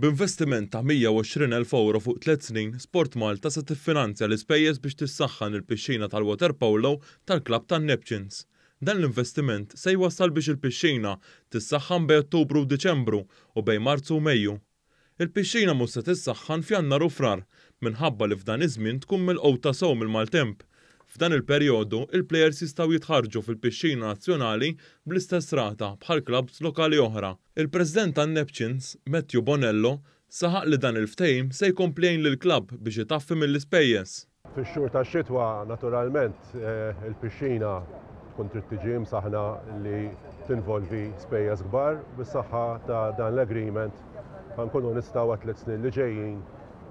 B'investiment ta' 120,000 ewro fuq tliet snin, SportMalta se tiffinanzja l-ispejjeż biex tissaħħan il-pixxina tal-waterpolo tal-klabb tan-Neptunes. Dan l-investiment se jwassal biex il-pixxina tissaħħan bejn Ottubru u Diċembru u bejn Marzu u Mejju. Il-pixxina mhux se tissaħħan f'Jannar u Frar minħabba li f'dan iż-żmien tkun milquta sew mill-maltemp. F'dan il-perjodu, il-plejers jistgħu jitħarrġu fil-pixxina nazzjonali bl-istess rata bħal klabbs lokali oħra. Il-President tan-Neptunes, Matthew Bonello, saħaq li dan il-ftehim se jkompli jgħin lill-klabb biex itaffi mill-ispejjeż. Fix-xhur tax-xitwa naturalment il-pixxina tkun trid tiġi imsaħħna li tinvolvi spejjeż kbar. Bis-saħħa ta' dan l-agreement ħa nkunu nistgħu għat-tliet snin li ġejjin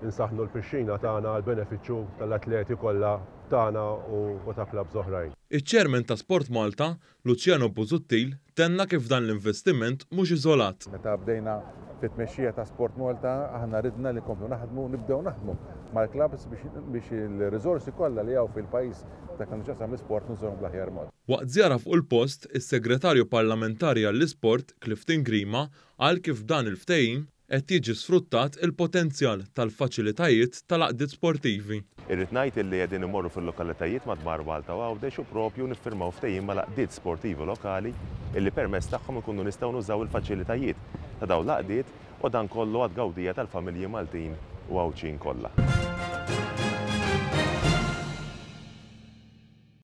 insaħħnu l-pixxina tagħna għall-benefiċċju tal-atleti kollha tagħna u ta' klabbs oħrajn. Iċ-Chairman ta' SportMalta, Luciano Busuttil tenna kif dan l-investiment mhux iżolat. Meta bdejna fit-tmexxija ta' SportMalta aħna ridna li nkomplu naħdmu, nibdew naħdmu mal-klabbs biex il-riżorsi kollha li hawn fil-pajjiż f'dak li għandu x'jaqsam l-isport nużawhom bl-aħjar mod. Waqt żjara fuq il-post, is-Segretarju Parlamentari għall-Isport, Clifton Grima, qal kif b'dan il-ftehim, Qed jiġi sfruttat il-potenzjal tal-faċilitajiet tal-għaqdiet sportivi. Irrid ngħid illi qegħdin immorru fil-lokalitajiet madwar Malta u Għawdex u propju niffirmaw ftehim mal-għaqdiet sportivi lokali illi permezz tagħhom inkunu nistgħu nużaw il-faċilitajiet ta' dawn l-għaqdiet u dan kollu għat-tgawdija tal-familji Maltin u Għawdxin kollha.